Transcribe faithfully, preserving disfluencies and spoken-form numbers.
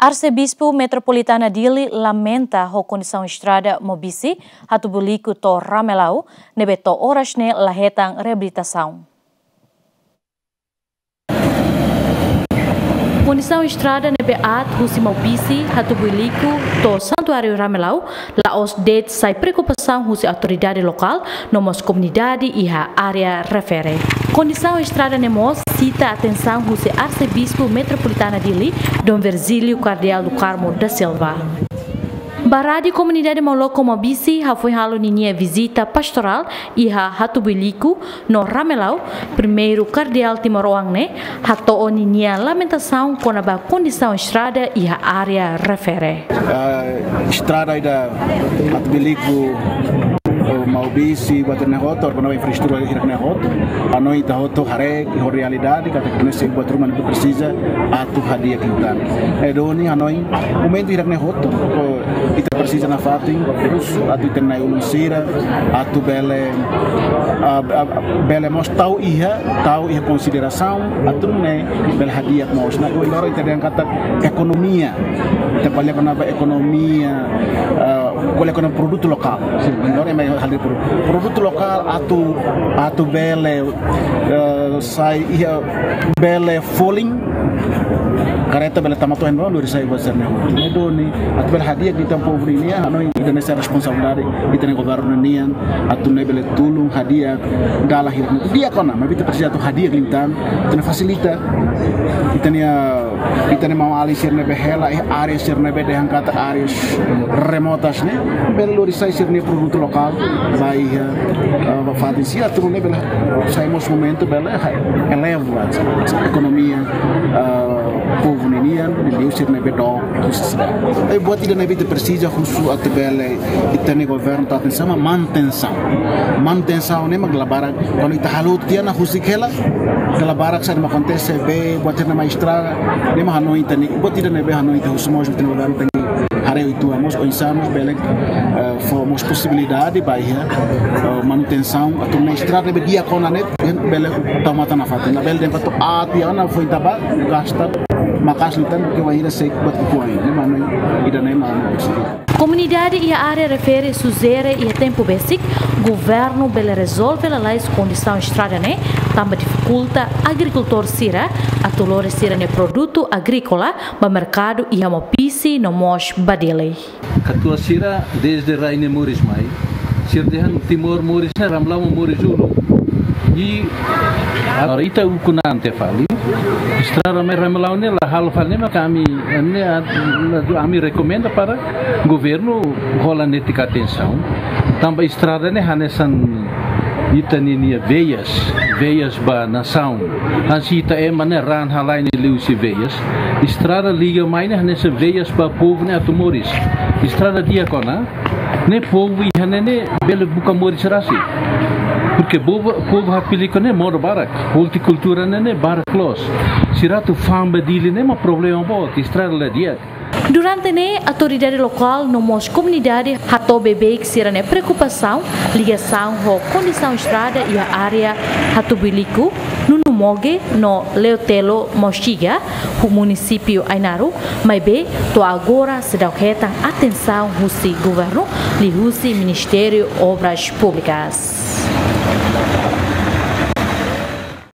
Arsebispu Metropolitana Dili lamenta ho kondisaun estrada Maubisse, Hatubuilico to'o Ramelau, ne'ebé to'o oras ne'e la hetan reabilitasaun. Kondisaun estrada ne'ebé aat husi Maubisse, Hatubuilico to'o Santuáriu Ramelau, la'ós de'it sai preokupasaun husi autoridade lokál, no mós komunidade iha área refere. Kondisaun estrada ne'e mós sita atensaun husi Arsebispu Metropolitana Dili, Dom Virgílio Cardeal do Carmo da Silva. Ba Rádiu Komunidade Mauloko Maubisse hafoin halo ninia vizita pastorál iha Hatubuilico no Ramelau, primeiru kardeál timoroan ne'e hato'o ninia lamentasaun kona-ba kondisaun estrada iha área refere. Ah, estrada ida Hatubuilico, eh, Maubisse, buat ne'e hotu, kona-ba infraestrutura hirak ne'e hotu. Hanoin ita hotu haree, iha realidade, katak ne'e sei buat ruma ne'ebé presiza atu hadi'a liután. Eh, duni, hanoin, momentu hirak ne'e hotu, eh, ita presiza nafatin, terus, atu ita-nia na'i-ulun sira, atu bele, ah, ah, bele mós tau iha, tau iha konsiderasaun, atu nune'e bele hadi'a mós. Nah, agora ita dehan katak ekonomia, ita ko'alia kona-ba ekonomia, ah, ko'alia kona-ba produtu lokál. Agora ema halo produ-, produtu lokál atu, atu bele, eh, sai iha bele folin, kareta bele tama to'o henoin, lori sai buat sira-ne'e. Ne'e duni, atu bele hadi'a liután povu ninian, hanoin ida-ne'e sai responsabilidade ita-nia governu nian, atu nune'e bele tulun hadi'a dalan hirak ne'e. Di'ak ona, maibé ita presiza atu hadi'a liután, atu nune'e fasilita ita-nia, ita-nia maun-alin sira ne'ebé hela iha área sira ne'ebé dehan katak áreas remotas ne'e, bele lori sai sira-nia produtu lokál ba iha, eh, ba fatin sira, atu nune'e bele sai mós momentu bele, ha, eleva ekonomia, eh, povu ninian, liuliu sira ne'ebé dook husi sidade. Eh, buat ida ne'ebé ita presiza husu atu bele ita-nia governu tau atensaun, manutensaun. Manutensaun ne'e mak dala barak, kuandu ita halo tiha ona husik hela, dala barak saida mak akontese, bee, buat sira-ne'e mak estraga, ne'e mak hanoin ita-nia, buat ida ne'ebé hanoin ita husu mós ita-nia governu tenke haree uitoan mós, oinsá mós bele, eh, fó mós posibilidade ba iha, eh, manutensaun, atu nune'e estrada ne'ebé di'ak ona ne'e, bele tau matan nafatin. Labele dehan katak aat tiha ona foin ita bá gasta maka'as liután, ke wainhira sei buat kukuan. Ne'e mak hanoin ida-ne'e mak hanoin. Komunidade iha área refere sujere iha tempu besik, governu bele rezolve lalais kondisaun estrada ne'e, tanba difikulta agrikultór sira atu lori sira-nia produtu agríkola ba merkadu iha Maubisse no mós ba Dili. Katuas sira dezde rai ne'e moris mai, sira dehan Timor moris ne'e Ramelau moris uluk. I agora ita ukun an tiha fali. Estrada mai Ramelau ne'e la halo fali ne'e mak ami, ne'e a-, ami rekomenda para governu hola netik atensaun. Tanba estrada ne'e hanesan ita ninia veias, veias ba nasaun. Hanesan ita ema ne'e raan halai ne'e liuhusi veias. Estrada liga mai ne'e hanesan veias ba povu ne'e atu moris. Estrada di'ak ona, ne'e povu iha ne'e ne'e bele buka moris rasik. Porke povu, povu Hatubuilico ne'e modo barak, hortikultura ne'e ne'e barak loos. Sira atu fa'an ba Dili ne'e mak problema boot, estrada la di'ak. Durante ne'e, autoridade lokál no mós komunidade hato'o beibeik sira-nia preokupasaun ligasaun ho kondisaun estrada iha área Hatubuilico, Nunumoge no Leotelo Mauxiga, ho munisípiu Ainaro, maibé to'o agora seidauk hetan atensaun husi governu, liuhusi Ministériu Obras Públikas.